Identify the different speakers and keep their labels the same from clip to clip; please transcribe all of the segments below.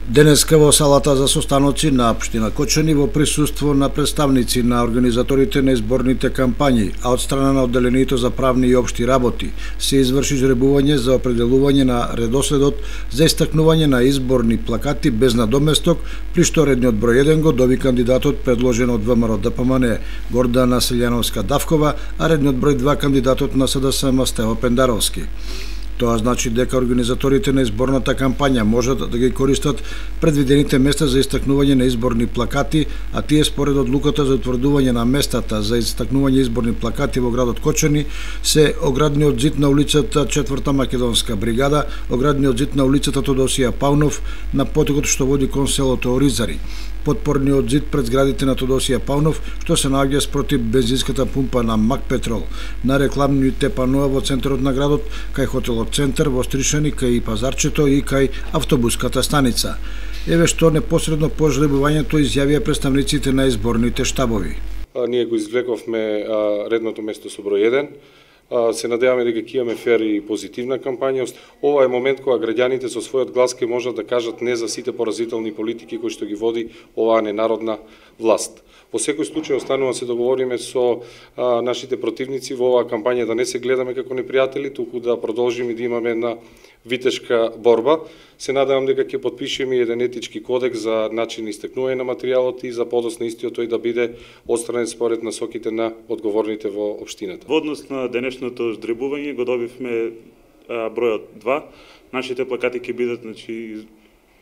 Speaker 1: Денеска во салата за состаноци на општина Кочани во присуство на представници на организаторите на изборните кампањи, а од страна на одделението за правни и општи работи се изврши жребување за определување на редоследот за истакнување на изборни плакати без надоместок, при што редниот број 1 го доби кандидатот предложен од ВМРО ДПМН Гордана Селјановска-Давкова, а редниот број 2 кандидатот на СДСМ Стево Пендаровски. Тоа значи дека организаторите на изборната кампања можат да ги користат предвидените места за истакнување на изборни плакати, а тие според одлуката за утврдување на местата за истакнување изборни плакати во градот Кочани се оградниот зид на улицата 4-та Македонска бригада, оградниот зид на улицата Тодосија Паунов на потокот што води кон селото Оризари, подпорниот зид пред зградите на Тодосија Паунов, што се наоѓа спротив бензинската пумпа на Мак Петрол, на рекламните паноа во центарот на градот, кај хотелот Центар во Стришани, кај пазарчето и кај автобуската станица. Еве што непосредно по жребувањето изјавија представниците на изборните штабови.
Speaker 2: Ние го извлековме редното место со број 1. Се надеваме дека ќе имаме фер и позитивна кампања. Ова е момент кога граѓаните со својот глас ќе можат да кажат не за сите поразителни политики кои што ги води оваа ненародна власт. Во секој случај останува се договориме со нашите противници во оваа кампања да не се гледаме како непријатели, туку да продолжиме да имаме една витешка борба. Се надевам дека ќе потпишеме еден етички кодекс за начин истекнување на материјалот и за подоцна истиот тој да биде отстранен според насоките на одговорните во општината.
Speaker 3: Во однос на денешното ждребување го добивме бројот 2. Нашите плакати ќе бидат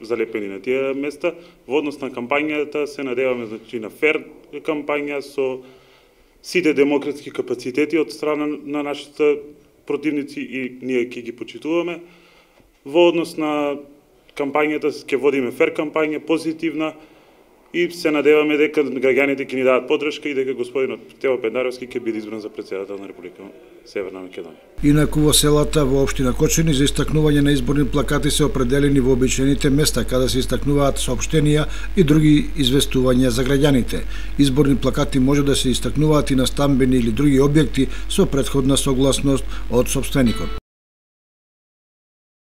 Speaker 3: залепени на тие места. Во однос на кампањата се надеваме на фер кампања со сите демократски капацитети од страна на нашите противници и ние ќе ги почитуваме. Во однос на кампањата ќе водиме фер кампања, позитивна, и се надеваме дека граѓаните ќе ни дадат поддршка и дека господинот Стево Пендаровски ќе биде избран за претседател на Република Северна Македонија.
Speaker 1: Инаку во селата во општина Кочани за истакнување на изборни плакати се определени вообичаените места каде се истакнуваат соопштенија и други известувања за граѓаните. Изборни плакати може да се истакнуваат и на стамбени или други објекти со претходна согласност од сопственикот.